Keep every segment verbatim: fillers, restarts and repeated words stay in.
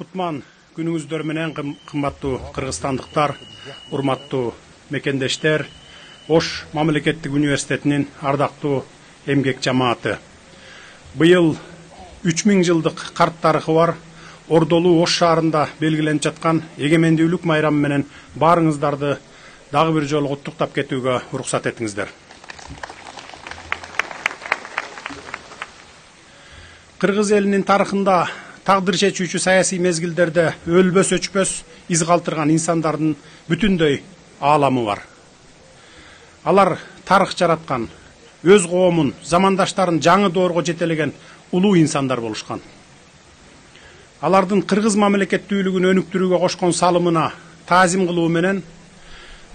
Кутман күнүңүздөр менен кымбаттуу кыргызстандыктар, урматтуу мекендештер, Ош мамлекеттик университетинин ардактуу эмгек жамааты. Быйыл үч миң жылдык карт тарыхы бар Ордолуу Ош шаарында белгиленип жаткан эгемендүүлүк майрамы менен баарыңыздарды дагы бир жолу куттуктап кетүүгө уруксат этиңиздер. Кыргыз элинин тарыхында тагдыр чечүүчү саясий мезгилдерде өлбөс өчпөс из калтырган инсандардын бүтүндөй ааламы бар. Алар тарых жараткан, өз коомун, замандаштарын жаңы доорго жетелеген улуу инсандар болушкан. Алардын кыргыз мамлекеттүүлүгүн өнүктүрүүгө кошкон салымына таазим кылуу менен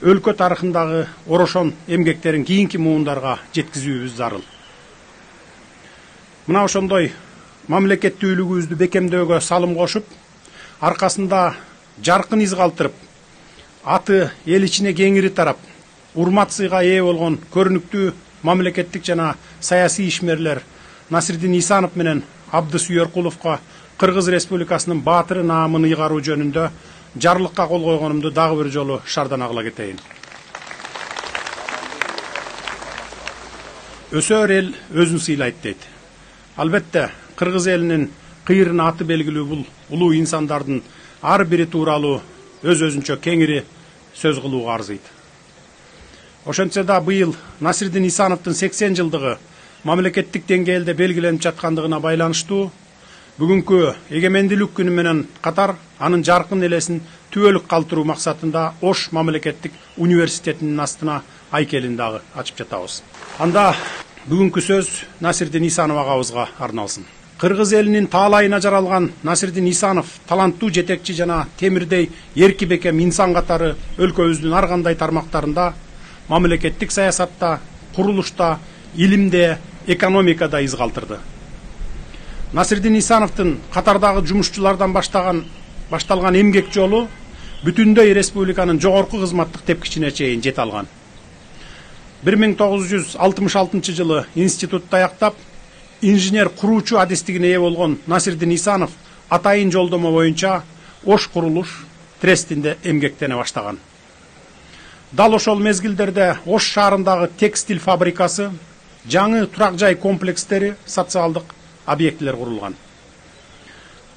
өлкө тарыхындагы орошон эмгектерин кийинки муундарга жеткизүүбүз зарыл. Мына ошондой мамлекеттүүлүгүбүздү бекемдөөгө салым кошуп, аркасында жаркын из калтырып, аты эл ичине кеңири тарап, урмат сыйга ээ болгон көрүнүктүү мамлекеттик жана саясий ишмерлер Насирдин Исанов менен Абдыс Үйөркуловго Кыргыз Республикасынын баатыры наамын ыйгаруу жөнүндө жарлыкка кол койгонумду дагы бир жолу шардан агыла кетейин. Өсөр эл өзүн сыйлайт дейт. Албетте, Кыргыз элинин кыйрын аты белгилүү бул улуу инсандардын ар бири тууралуу өз-өзүнчө кеңири сөз кылууга арзыйт. Ошентсе да быйыл Насирдин Исановдун сексен жылдыгы мамлекеттик деңгээлде белгиленип жаткандыгына байланыштуу бүгүнкү эгемендүүлүк күнү менен катар анын жаркын элесин түбөлүк калтыруу максатында Ош мамлекеттик университетинин астына айкелин дагы ачып жатабыз. Анда бүгүнкү сөз Насирдин Исанов агабызга арналсын. Кыргыз элинин таалайына жаралган Насирдин Исанов таланттуу жетекчи жана темирдей эрки бекем инсан катары өлкөбүздүн ар кандай тармактарында мамлекеттик саясатта, курулушта, илимде, экономикада из калтырды. Насирдин Исановдун катардагы жумушчулардан баштаган башталган эмгек жолу бүтүндөй республиканын жогорку кызматтык тепкичине чейин жете алган. бир миң тогуз жүз алтымыш алтынчы жылы институтта аяктап, инженер куруучу адистигине ээ болгон Насирдин Исанов атайын жолдомо боюнча Ош курулуш трестинде эмгектене баштаган. Дал ошол мезгилдерде Ош шаарындагы текстиль фабрикасы, жаңы турак жай комплекстери, социалдык объектилер курулган.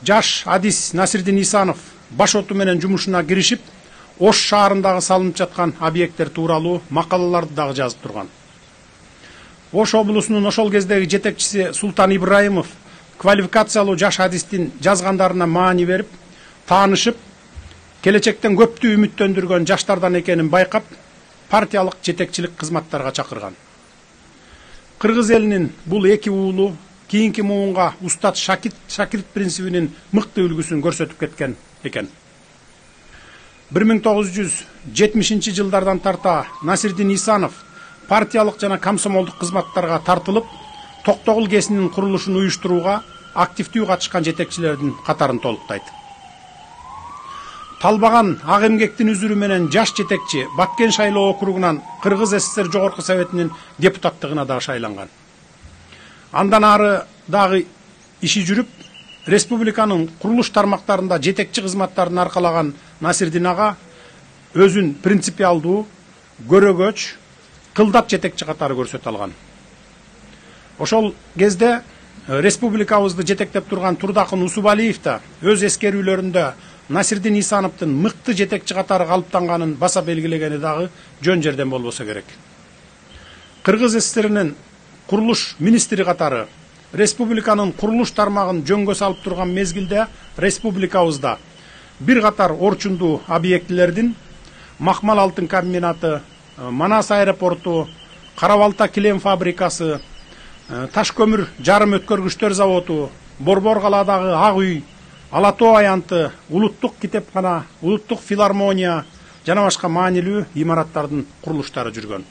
Жаш адис Насирдин Исанов баш оту менен жумушуна киришип, Ош шаарындагы салынып жаткан объекттер тууралуу макалаларды дагы жазып турган. Ош облусунун ошол кездеги жетекчиси Султан Ибраимов квалификациялуу жаш адистин жазгандарына маани берип, таанышып, келечектен көптү үмүттөндүргөн жаштардан экенин байкап, партиялык жетекчилик кызматтарга чакырган. Кыргыз элинин бул эки уулу кийинки муунга устат шакирт принцибинин мыкты үлгүсүн көрсөтүп кеткен экен. бир миң тогуз жүз жетимишинчи жылдардан тарта Насирдин Исанов партиялык жана комсомолдук кызматтарга тартылып, Токтогул кесинин курулушун уюштурууга активдүү катышкан жетекчилердин катарын толуктайт. Талбаган ак эмгектин үзүрү менен жаш жетекчи Баткен шайлоо округунан Кыргыз СССР Жогорку Советинин депутаттыгына дагы шайланган. Андан ары дагы иши жүрүп, республиканын курулуш тармактарында жетекчи кызматтарын аркалаган Насирдин ага өзүн принципиалдуу, көрөгөч, кылдат жетекчи катары көрсөтө алган. Ошол кезде республикабызды жетектеп турган Турдакын Усубалиев да өз эскерүүлөрүндө Насирдин Исановдун мыкты жетекчи катары калыптанганын баса белгилегени дагы жөн жерден болбосо керек. Кыргыз СССРинин курулуш министри катары республиканын курулуш тармагын жөнгө салып турган мезгилде республикабызда бир катар орчундуу объектилердин Макмал алтын комбинаты, Манас аэропорту, Карабалта килем фабрикасы, Таш көмүр жарым өткөргүчтөр заводу, Борбор калаадагы Ак үй, Ала тоо аянты, улуттук китепкана, улуттук филармония жана башка маанилүү имараттардын курулуштары жүргөн.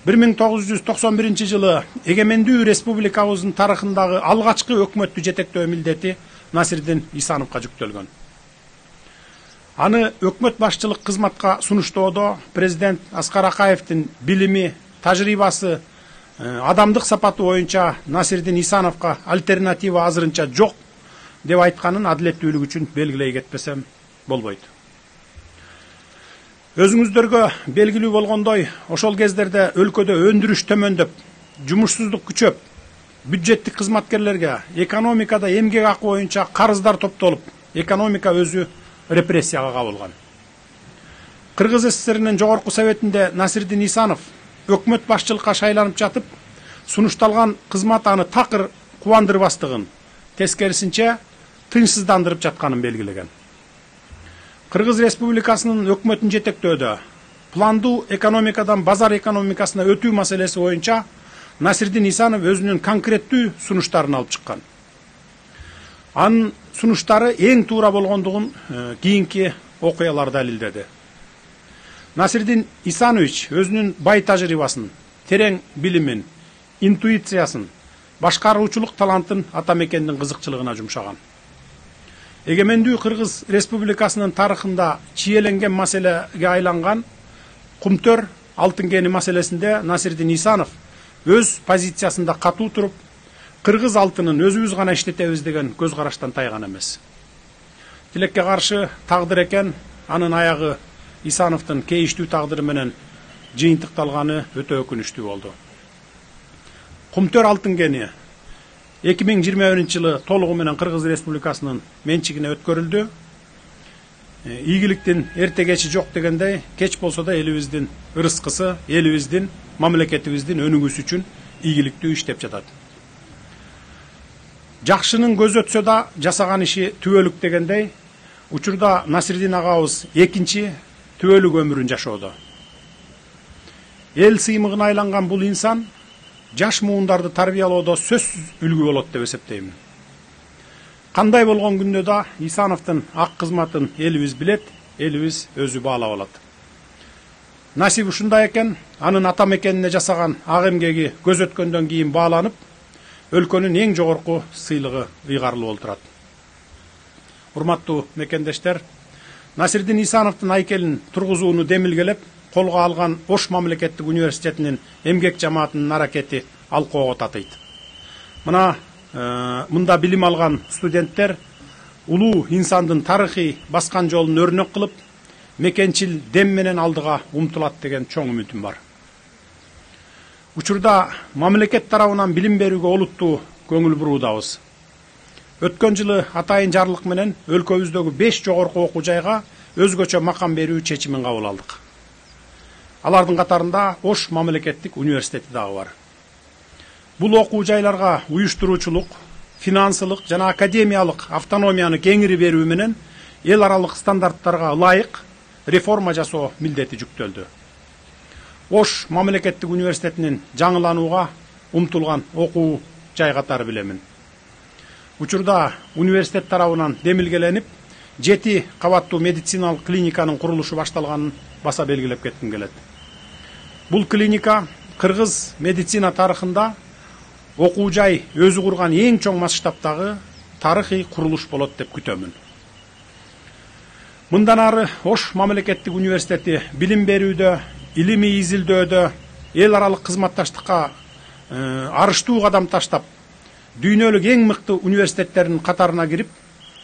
бир миң тогуз жүз токсон биринчи жылы эгемендүү республикабыздын тарыхындагы алгачкы өкмөттү жетектөө милдети Насирдин Исановго жүктөлгөн. Аны өкмөт башчылык кызматка сунуштоодо президент Аскар Акаевдин билими, тажрыйбасы, адамдык сапаты боюнча Насирдин Исановго альтернатива азырынча жок деп айтканын адилеттүүлүк үчүн белгилей кетпесем болбойт. Өзүңүздөргө белгилүү болгондой, ошол кездерде өлкөдө өндүрүш төмөндөп, жумушсуздук күчөп, бюджеттик кызматкерлерге экономикада эмгек акы боюнча карыздар топтолуп, экономика өзү репрессияга кабылган. Кыргыз СССРинин жогорку советинде Насирдин Исанов өкмөт башчылыкка шайланып жатып, сунушталган кызмат аны такыр кубандырбастыгын, тескерисинче тынчсыздандырып жатканын белгилеген. Кыргыз Республикасынын өкмөтүн жетектөөдө пландуу экономикадан базар экономикасына өтүү маселеси боюнча Насирдин Исанов өзүнүн конкреттүү сунуштарын алып чыккан. Анын сунуштары эң туура болгондугун кийинки окуялар далилдеди. Насирдин Исанович өзүнүн бай тажрыйбасын, терең билимин, интуициясын, башкаруучулук талантын ата мекендин кызыкчылыгына жумшаган. Эгемендүү Кыргыз Республикасынын тарыхында чийеленген маселеге айланган Кумтөр алтын кени маселесинде Насирдин Исанов өз позициясында катуу туруп, кыргыз алтынын өзүбүз гана иштетебиз деген көз караштан тайган эмес. Тилекке каршы тагдыр экен, анын аягы Исановдун кейиштүү тагдыры менен жыйынтыкталганы өтө өкүнүчтүү болду. Кумтөр алтын кени эки миң жыйырма биринчи жылы толугу менен Кыргыз Республикасынын менчигине өткөрүлдү. Ийгиликтин эрте кечи жок дегендей, кеч болсо да элибиздин ырыскысы, элибиздин, мамлекетибиздин өнүгүүсү үчүн ийгиликтүү иштеп жатат. Жакшынын көзү өтсө да жасаган иши түбөлүк дегендей, учурда Насирдин агабыз экинчи түбөлүк өмүрүн жашоодо. Эл сыймыгына айланган бул инсан жаш муундарды тарбиялоодо сөзсүз үлгү болот деп эсептейм. Кандай болгон күндө да Исановдун ак кызматын элибиз билет, элибиз өзү баалап алат. Насип ушундай экен, анын ата мекенине жасаган ак эмгеги көз өткөндөн кийин бааланып, өлкөнүн эң жогорку сыйлыгы ыйгарылып олтурат. Урматтуу мекендештер, Насирдин Исановдун айкелин тургузууну демилгелеп, колго алган Ош мамлекеттик университетинин эмгек жамаатынын аракети алкоого татыйт. Мына мында билим алган студенттер улуу инсандын тарыхый баскан жолун өрнөк кылып, мекенчил дем менен алдыга умтулат деген чоң үмүтүм бар. Учурда мамлекет тарабынан билим берүүгө олуттуу көңүл буруудабыз. Өткөн жылы атайын жарлык менен өлкөбүздөгү беш жогорку окуу жайга өзгөчө макам берүү чечимин кабыл алдык. Алардын катарында Ош мамлекеттик университети дагы бар. Бул окуу жайларга уюштуруучулук, финансылык жана академиялык автономияны кеңири берүү менен эл аралык стандарттарга ылайык реформа жасоо милдети жүктөлдү. Ош мамлекеттик университетинин жаңыланууга умтулган окуу жай катары билемин. Учурда университет тарабынан демилгеленип, жети кабаттуу медициналык клиниканын курулушу башталганын баса белгилеп кетким келет. Бул клиника кыргыз медицина тарыхында окуу жай өзү курган эң чоң масштабтагы тарыхый курулуш болот деп күтөмүн. Мындан ары Ош мамлекеттик университети билим берүүдө, илимий изилдөөдө, эл аралык кызматташтыкка арыштуу кадам таштап, дүйнөлүк эң мыкты университеттердин катарына кирип,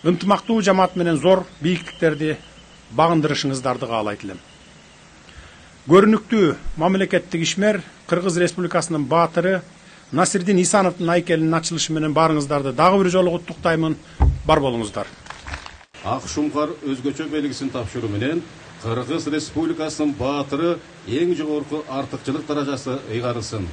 ынтымактуу жамаат менен зор бийиктиктерди багындырышыңыздарды каалайт элем. Көрүнүктүү мамлекеттик ишмер, Кыргыз Республикасынын баатыры Насирдин Исановдун айкелинин ачылышы менен баарыңыздарды дагы бир жолу куттуктаймын. Бар болуңуздар. Ак шумкар өзгөчө белгисин тапшыруу менен Кыргыз Республикасынын баатыры эң жогорку артыкчылык даражасы ыйгарылсын.